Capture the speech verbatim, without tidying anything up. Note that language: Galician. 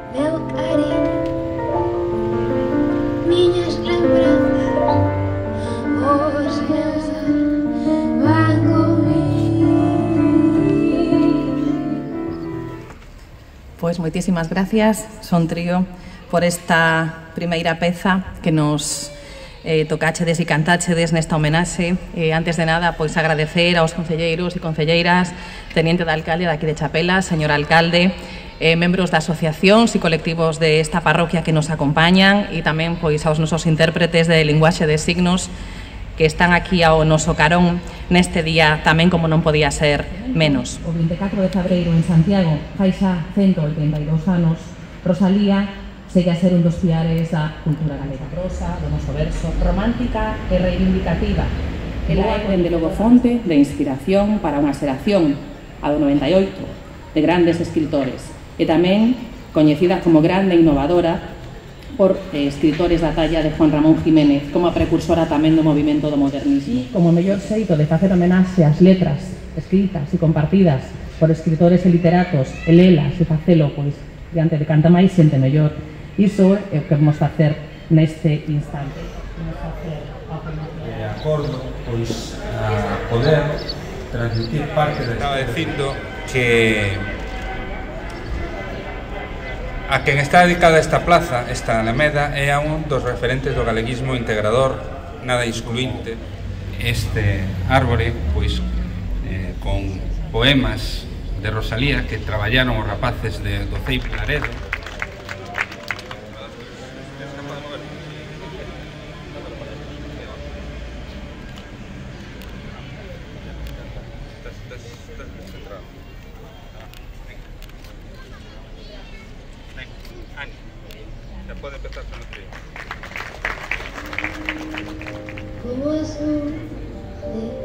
meu cariño, miñas lembranzas, os meus van comigo. Pois moitísimas gracias, Son Trío, por esta primeira peza que nos eh, tocachedes e cantáchedes nesta homenaxe. Eh, antes de nada, pois agradecer aos concelleiros e concelleiras, teniente de alcalde daqui de Chapelas, señor alcalde, eh, membros de asociacións e colectivos desta parroquia que nos acompañan e tamén pois aos nosos intérpretes de linguaxe de signos que están aquí ao noso carón neste día tamén como non podía ser menos. O vinte e catro de febreiro en Santiago, fai xa ciento oitenta e dous anos, Rosalía segue a ser un dos piares da cultura galega. Prosa, do noso verso, romántica e reivindicativa. Ela é, dende logo, fonte de inspiración para unha xeración, a do noventa e oito, de grandes escritores, e tamén coñecida como grande e innovadora por eh, escritores da talla de Juan Ramón Jiménez, como a precursora tamén do movimento do modernismo. E como mellor xeito de facer homenaxe ás letras escritas e compartidas por escritores e literatos, e lelas e facelo, pois, diante de canta máis xente mellor. Iso é o que vamos facer neste instante. Vamos facer de acordo, pois, a poder transmitir parte de... Estaba dicindo que a quen está dedicada esta plaza, esta Alameda, é a un dos referentes do galeguismo integrador, nada excluinte. Este árbore, pois, eh, con poemas de Rosalía que traballaron os rapaces de, do Ceipo Laredo. Ya puede empezar con el trío. Como azul de